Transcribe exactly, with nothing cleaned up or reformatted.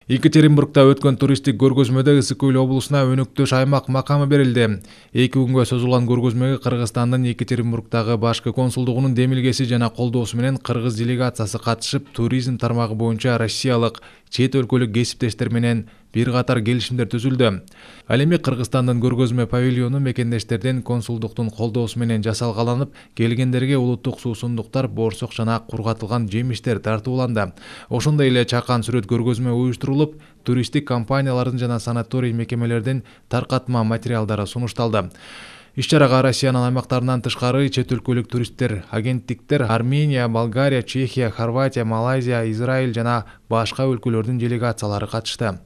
Екатеринбургда өткөн туристтик көргөзмөдө Ысык Көл облусуна өнөктөш аймак макамы берилди. Эки күнгө созулган көргөзмөгө Кыргызстандын Екатеринбургдагы башкы консулдугунун демилгеси жана колдоосу менен кыргыз делегациясы катышып, туризм тармагы боюнча россиялык, чет өлкөлүк кесиптештер менен бир катар келишимдер түзүлдү. Ал эми Кыргызстандын көргөзмө павильону мекендештердин консулдуктун колдоосу менен жасалгаланып, келгендерге улуттук суусундуктар, боорсок жана кургатылган жемиштер тартууланды. Ошондой эле чакан сүрөт көргөзмө уюштурулуп, туристтик компаниялардын жана санаторий мекемелердин таркатма материалдары сунушталды. Иш-чарага Россиянын аймактарынан тышкары чет өлкөлүк туристтер, агенттиктер, Армения, Болгария, Чехия, Хорватия, Малайзия, Израиль жана башка өлкөлөрдүн делегациялары катышты.